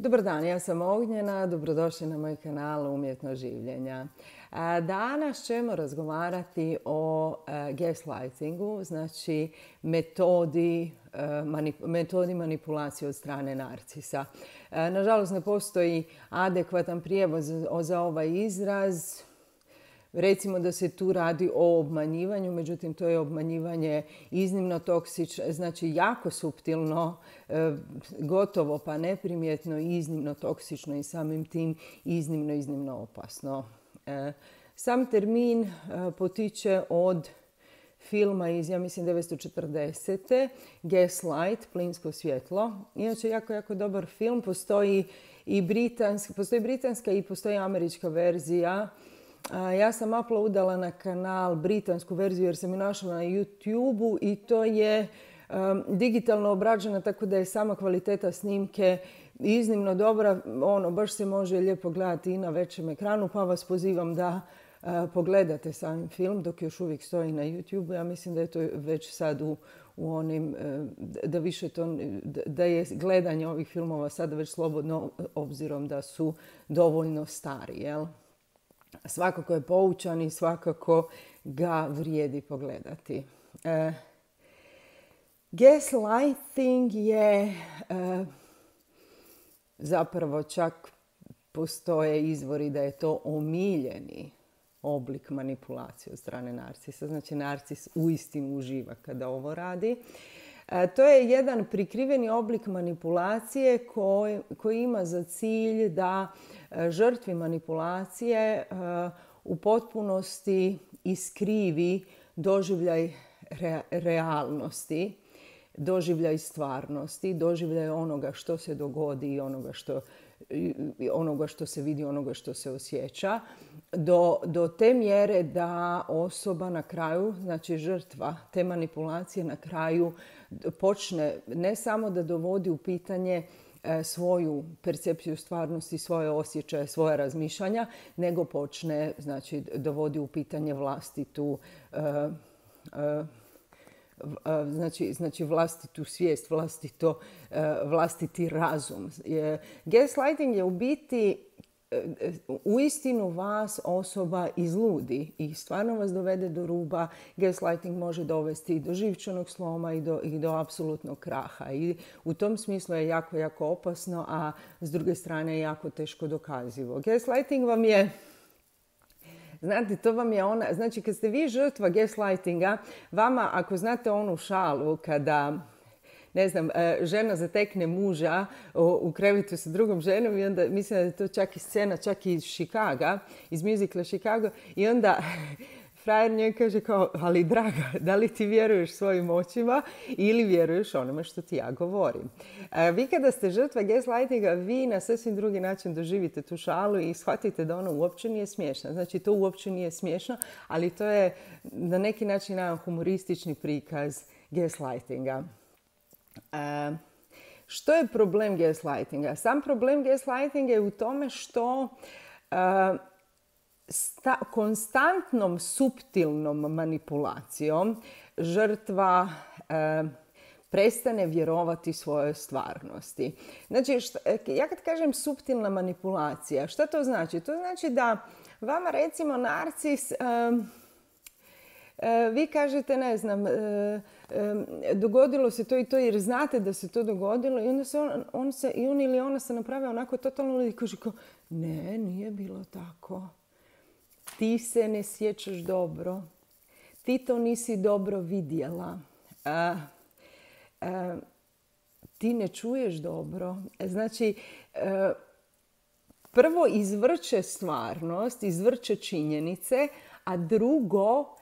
Dobar dan, ja sam Ognjena, dobrodošli na moj kanal Umjetno življenja. Danas ćemo razgovarati o gaslightingu, znači metodi manipulacije od strane narcisa. Nažalost, ne postoji adekvatan prijevod za ovaj izraz. Recimo da se tu radi o obmanjivanju, međutim to je obmanjivanje iznimno toksično, znači jako suptilno, gotovo pa neprimjetno i iznimno toksično i samim tim iznimno opasno. Sam termin potiče od filma iz, ja mislim, 1940. Gaslight, plinsko svjetlo. Inače, jako dobar film. Postoji britanska i postoji američka verzija. Ja sam uploadala na kanal britansku verziju jer sam ju našla na YouTube-u i to je digitalno obrađena, tako da je sama kvaliteta snimke iznimno dobra. Baš se može lijepo gledati i na većem ekranu, pa vas pozivam da pogledate sam film dok još uvijek stoji na YouTube-u. Ja mislim da je to već sad u onim, da je gledanje ovih filmova sada već slobodno, obzirom da su dovoljno stari, jel? Svakako je poučan i svakako ga vrijedi pogledati. Gaslighting je zapravo, čak postoje izvori da je to omiljeni oblik manipulacije od strane narcisa. Znači, narcis uistinu uživa kada ovo radi. To je jedan prikriveni oblik manipulacije koji ima za cilj da žrtvi manipulacije u potpunosti iskrivi doživljaj realnosti, doživljaj stvarnosti, doživljaj onoga što se dogodi i onoga što se vidi, onoga što se osjeća, do te mjere da osoba na kraju, znači žrtva te manipulacije na kraju počne ne samo da dovodi u pitanje svoju percepciju stvarnosti, svoje osjećaje, svoje razmišljanja, nego počne, znači, dovodi u pitanje vlastitu svijest, vlastiti razum. Gaslighting je u biti uistinu vas osoba izludi i stvarno vas dovede do ruba. Gaslighting može dovesti i do živčanog sloma i do apsolutnog kraha. I u tom smislu je jako opasno, a s druge strane je jako teško dokazivo. Gaslighting vam je, znate, to vam je ona, znači kad ste vi žrtva gaslightinga, vama, ako znate onu šalu kada, ne znam, žena zatekne muža u krevetu sa drugom ženom i onda, mislim da je to čak i scena, čak i iz Chicaga, iz muzikla Chicago, i onda frajer njoj kaže kao, ali draga, da li ti vjeruješ svojim očima ili vjeruješ onome što ti ja govorim? Vi kada ste žrtva gaslightinga, vi na sasvim drugi način doživite tu šalu i shvatite da ona uopće nije smiješna. Znači, to uopće nije smiješno, ali to je na neki način jedan humoristični prikaz gaslightinga. Što je problem gaslightinga? Sam problem gaslightinga je u tome što konstantnom suptilnom manipulacijom žrtva prestane vjerovati svojoj stvarnosti. Znači, ja kad kažem suptilna manipulacija, šta to znači? To znači da vama, recimo, narcis, vi kažete, ne znam, dogodilo se to i to jer znate da se to dogodilo i onda on ili ona se naprave onako totalno i kaže kao, ne, nije bilo tako. Ti se ne sjećaš dobro. Ti to nisi dobro vidjela. Ti ne čuješ dobro. Znači, prvo izvrće stvarnost, izvrće činjenice, a drugo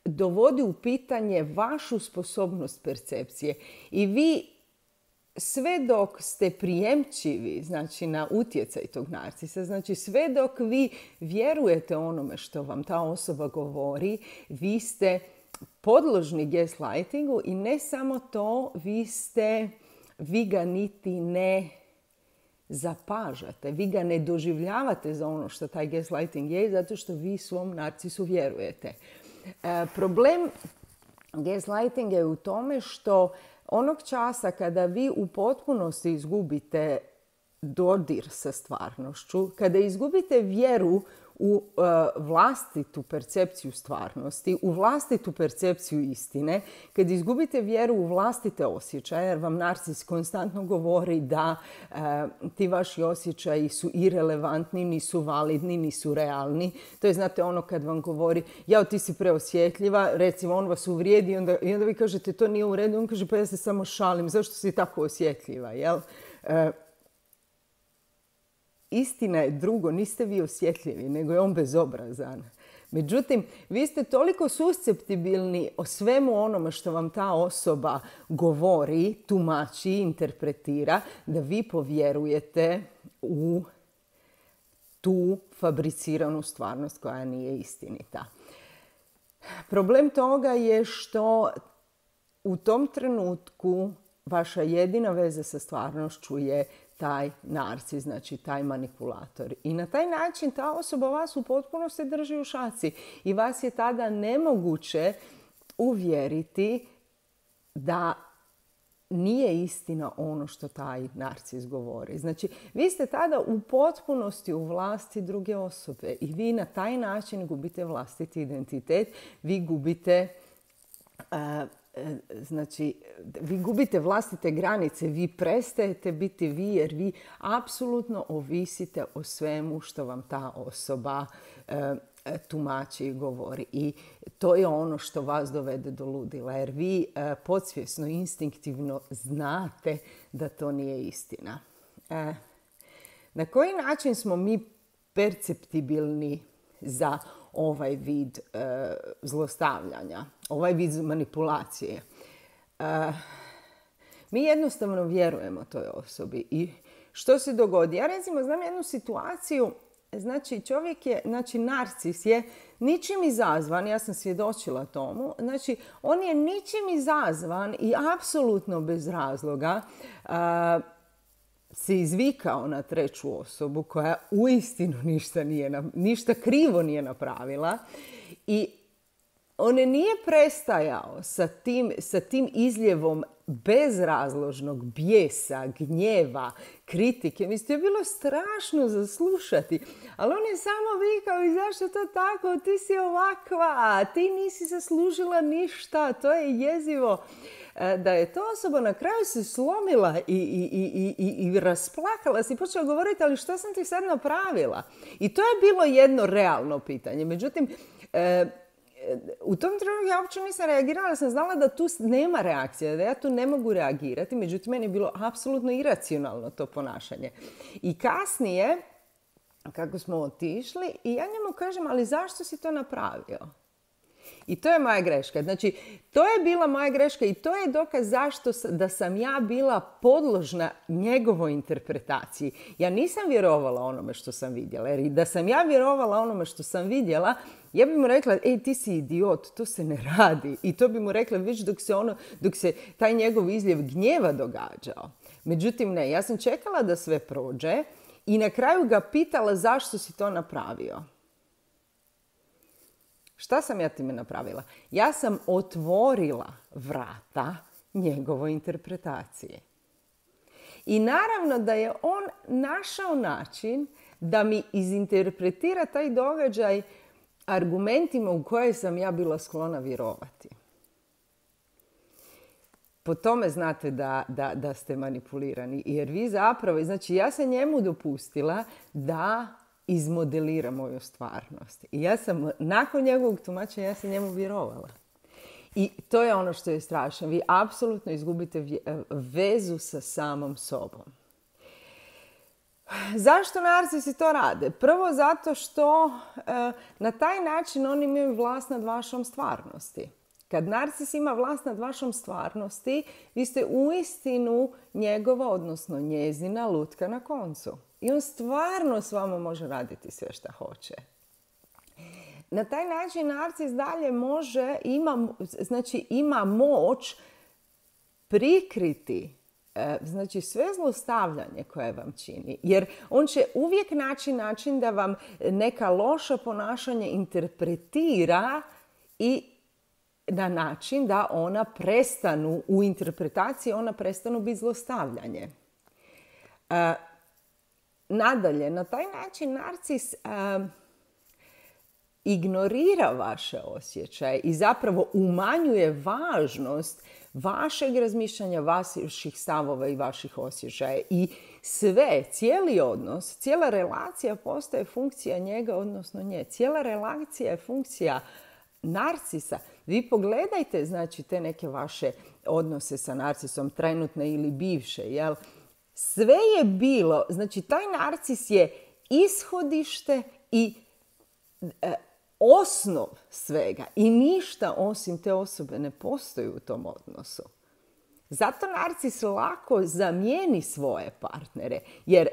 dovodi u pitanje vašu sposobnost percepcije. I vi, sve dok ste prijemčivi, znači, na utjecaj tog narcisa, znači sve dok vi vjerujete onome što vam ta osoba govori, vi ste podložni gaslightingu i ne samo to, vi ga niti ne zapažate, vi ga ne doživljavate za ono što taj gaslighting je, zato što vi svom narcisu vjerujete. Problem gaslightinga je u tome što onog časa kada vi u potpunosti izgubite dodir sa stvarnošću, kada izgubite vjeru u vlastitu percepciju stvarnosti, u vlastitu percepciju istine, kad izgubite vjeru u vlastite osjećaje, jer vam narcis konstantno govori da ti vaši osjećaji su irelevantni, nisu validni, nisu realni. To je, znate, ono kad vam govori, jao, ti si preosjetljiva, recimo on vas uvrijedi i onda vi kažete to nije u redu, on kaže pa ja se samo šalim, zašto si tako osjetljiva, jel? Istina je drugo, niste vi osjetljivi, nego je on bezobrazan. Međutim, vi ste toliko susceptibilni o svemu onome što vam ta osoba govori, tumači, interpretira, da vi povjerujete u tu fabriciranu stvarnost koja nije istinita. Problem toga je što u tom trenutku vaša jedina veza sa stvarnošću je taj narcis, znači taj manipulator. I na taj način ta osoba vas u potpunosti drži u šaci. I vas je tada nemoguće uvjeriti da nije istina ono što taj narcis govori. Znači, vi ste tada u potpunosti u vlasti druge osobe i vi na taj način gubite vlastiti identitet, vi gubite vi gubite vlastite granice, vi prestajete biti vi jer vi apsolutno ovisite o svemu što vam ta osoba tumači i govori. I to je ono što vas dovede do ludila jer vi podsvjesno, instinktivno znate da to nije istina. Na koji način smo mi perceptibilni za ovaj vid zlostavljanja, ovaj vid manipulacije? Mi jednostavno vjerujemo toj osobi. I što se dogodi? Ja recimo znam jednu situaciju, znači čovjek je, znači narcis je ničim izazvan, ja sam svjedočila tomu, znači on je ničim izazvan i apsolutno bez razloga se izvikao na treću osobu koja uistinu ništa krivo nije napravila i on nije prestajao sa tim izljevom bezrazložnog bijesa, gnjeva, kritike. Mislim, to je bilo strašno za slušati. Ali on je samo vikao i zašto to tako? Ti si ovakva, ti nisi zaslužila ništa, to je jezivo. Da je ta osoba na kraju se slomila i rasplakala se i počela govoriti, ali što sam ti sad napravila? I to je bilo jedno realno pitanje. Međutim, u tom trenutku ja uopće nisam reagirala, sam znala da tu nema reakcije, da ja tu ne mogu reagirati, međutim meni je bilo apsolutno iracionalno to ponašanje. I kasnije, kako smo otišli, i ja njemu kažem, ali zašto si to napravio? I to je moja greška. Znači, to je bila moja greška i to je dokaz zašto da sam ja bila podložna njegovoj interpretaciji. Ja nisam vjerovala onome što sam vidjela. Jer da sam ja vjerovala onome što sam vidjela, ja bi mu rekla, ej, ti si idiot, to se ne radi. I to bi mu rekla već dok se taj njegov izljev gnjeva događao. Međutim, ne, ja sam čekala da sve prođe i na kraju ga pitala zašto si to napravio. Šta sam ja time napravila? Ja sam otvorila vrata njegovoj interpretaciji. I naravno da je on našao način da mi izinterpretira taj događaj argumentima u koje sam ja bila sklona vjerovati. Po tome znate da ste manipulirani. Jer vi zapravo, znači ja sam njemu dopustila da izmodelira moju stvarnost. I ja sam, nakon njegovog tumačenja, ja sam njemu vjerovala. I to je ono što je strašno. Vi apsolutno izgubite vezu sa samom sobom. Zašto narcisi to rade? Prvo zato što na taj način oni imaju vlast nad vašom stvarnosti. Kad narcis ima vlast nad vašom stvarnosti, vi ste uistinu njegova, odnosno njezina lutka na koncu. I on stvarno s vama može raditi sve što hoće. Na taj način narcis dalje ima moć prikriti sve zlostavljanje koje vam čini. Jer on će uvijek naći način da vam neka loša ponašanja interpretira i na način da ona prestanu, u interpretaciji ona prestanu biti zlostavljanje. Nadalje, na taj način narcis ignorira vaše osjećaje i zapravo umanjuje važnost vašeg razmišljanja, vaših stavova i vaših osjećaja. I cijeli odnos, cijela relacija postaje funkcija njega, odnosno nje. Cijela relacija je funkcija narcisa. Vi pogledajte, znači, te neke vaše odnose sa narcisom, trenutne ili bivše, jel? Sve je bilo, znači, taj narcis je ishodište i osnov svega i ništa osim te osobe ne postoji u tom odnosu. Zato narcis lako zamijeni svoje partnere, jer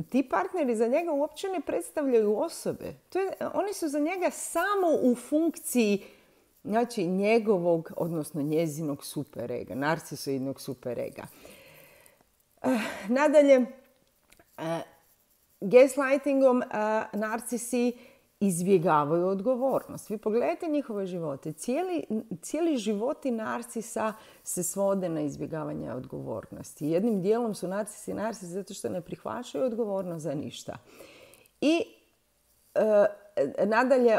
ti partneri za njega uopće ne predstavljaju osobe. Oni su za njega samo u funkciji, znači, njegovog, odnosno njezinog superega, narcisoidnog superega. Nadalje, gaslightingom narcisi izbjegavaju odgovornost. Vi pogledajte njihove živote. Cijeli životi narcisa se svode na izbjegavanje odgovornosti. Jednim dijelom su narcisi zato što ne prihvaćaju odgovornost za ništa. I nadalje,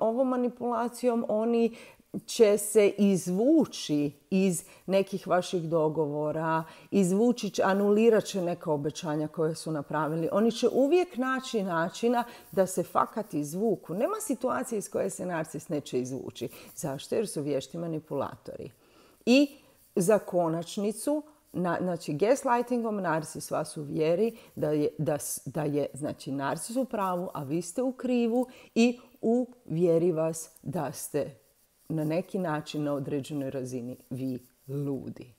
ovom manipulacijom oni će se izvući iz nekih vaših dogovora, anulirat će neka obećanja koje su napravili. Oni će uvijek naći načina da se fakat izvuku. Nema situacije iz koje se narcis neće izvući. Zašto? Jer su vješti manipulatori. I za konačnicu, znači, gaslightingom narcis vas uvjeri da je znači, narcis u pravu, a vi ste u krivu, i uvjeri vas da ste na neki način, na određenoj razini, vi ludi.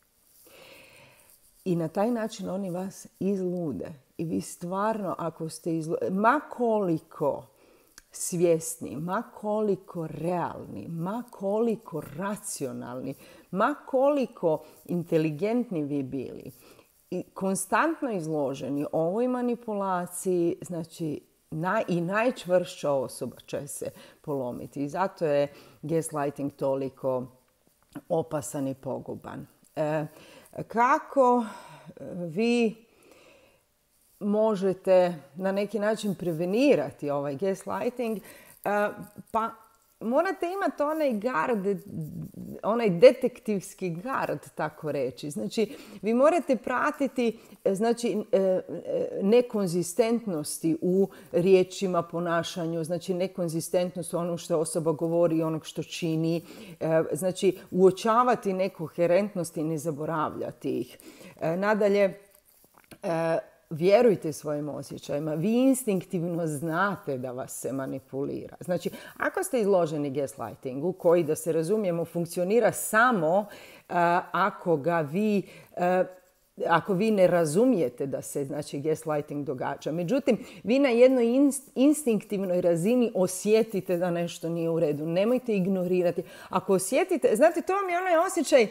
I na taj način oni vas izlude. I vi stvarno, ako ste ma koliko svjesni, ma koliko realni, ma koliko racionalni, ma koliko inteligentni vi bili, i konstantno izloženi ovoj manipulaciji, znači, i najčvršća osoba će se polomiti. I zato je gaslighting toliko opasan i poguban. Kako vi možete na neki način prevenirati ovaj gaslighting? Pa morate imati onaj detektivski gard, tako reći. Znači, vi morate pratiti, znači, nekonzistentnosti u riječima, ponašanju, znači nekonzistentnost u onom što osoba govori i onog što čini. Znači, uočavati nekoherentnosti i ne zaboravljati ih. Nadalje, vjerujte svojim osjećajima. Vi instinktivno znate da vas se manipulira. Znači, ako ste izloženi gaslightingu, koji, da se razumijemo, funkcionira samo ako vi ne razumijete da se, znači, gaslighting događa. Međutim, vi na jednoj instinktivnoj razini osjetite da nešto nije u redu. Nemojte ignorirati. Ako osjetite, znate, to vam je onaj osjećaj,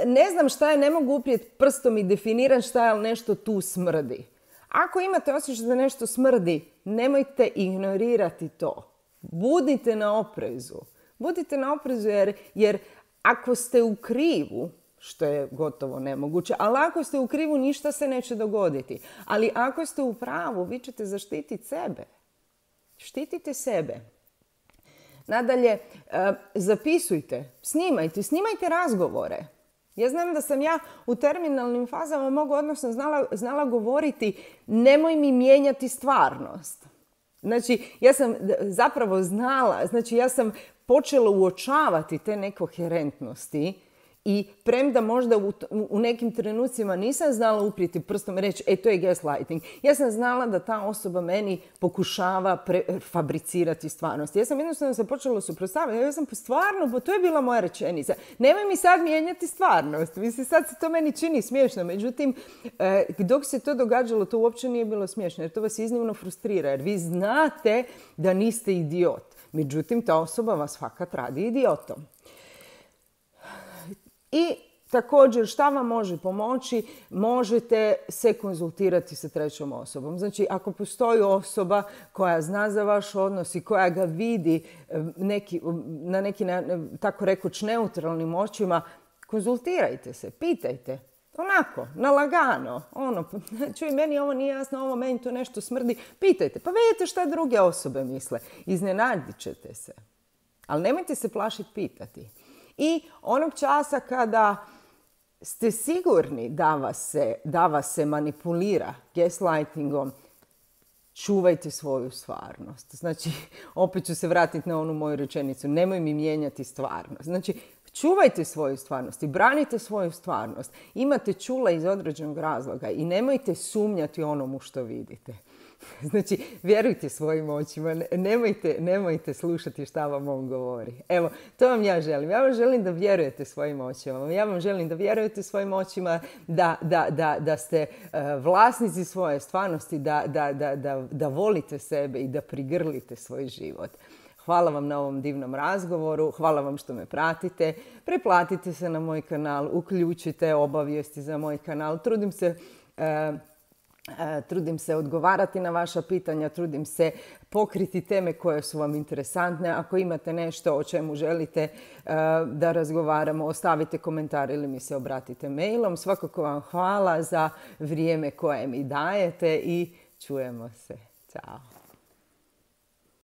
ne znam šta je, ne mogu uprijeti prstom i definiram šta je, ali nešto tu smrdi. Ako imate osjećaj da nešto smrdi, nemojte ignorirati to. Budite na oprezu. Budite na oprezu jer ako ste u krivu, što je gotovo nemoguće, ali ako ste u krivu, ništa se neće dogoditi. Ali ako ste u pravu, vi ćete zaštititi sebe. Štitite sebe. Nadalje, zapisujte, snimajte razgovore. Ja znam da sam ja u terminalnim fazama znala govoriti nemoj mi mijenjati stvarnost. Znači, ja sam zapravo znala, znači ja sam počela uočavati te nekoherentnosti i premda možda u nekim trenucima nisam znala uprijeti prstom i reći to je gaslighting. Ja sam znala da ta osoba meni pokušava fabricirati stvarnost. Ja sam jednostavno se počela suprotstavljati. Ja sam stvarno, to je bila moja rečenica. Nemoj mi sad mijenjati stvarnost. Mislim, sad se to meni čini smiješno. Međutim, dok se to događalo, to uopće nije bilo smiješno. Jer to vas iznimno frustrira. Jer vi znate da niste idiot. Međutim, ta osoba vas fakat radi idiotom. I također, šta vam može pomoći? Možete se konzultirati sa trećom osobom. Znači, ako postoji osoba koja zna za vaš odnos i koja ga vidi na neki, tako rekoć, neutralnim očima, konzultirajte se, pitajte. Onako, na lagano. Čuj, meni ovo nije jasno, ovo meni to nešto smrdi. Pitajte, pa vidite šta druge osobe misle. Iznenadit ćete se. Ali nemojte se plašiti pitati. I onog časa kada ste sigurni da vas se manipulira gaslightingom, čuvajte svoju stvarnost. Znači, opet ću se vratiti na onu moju rečenicu. Nemoj mi mijenjati stvarnost. Znači, čuvajte svoju stvarnost i branite svoju stvarnost. Imate čula iz određenog razloga i nemojte sumnjati onomu što vidite. Znači, vjerujte svojim očima, nemojte slušati šta vam on govori. Evo, to vam ja želim. Ja vam želim da vjerujete svojim očima. Ja vam želim da vjerujete svojim očima, da ste vlasnici svoje stvarnosti, da volite sebe i da prigrlite svoj život. Hvala vam na ovom divnom razgovoru, hvala vam što me pratite. Preplatite se na moj kanal, uključite obavijesti za moj kanal. Trudim se odgovarati na vaša pitanja, trudim se pokriti teme koje su vam interesantne. Ako imate nešto o čemu želite da razgovaramo, ostavite komentar ili mi se obratite mailom. Svakako vam hvala za vrijeme koje mi dajete i čujemo se. Ćao.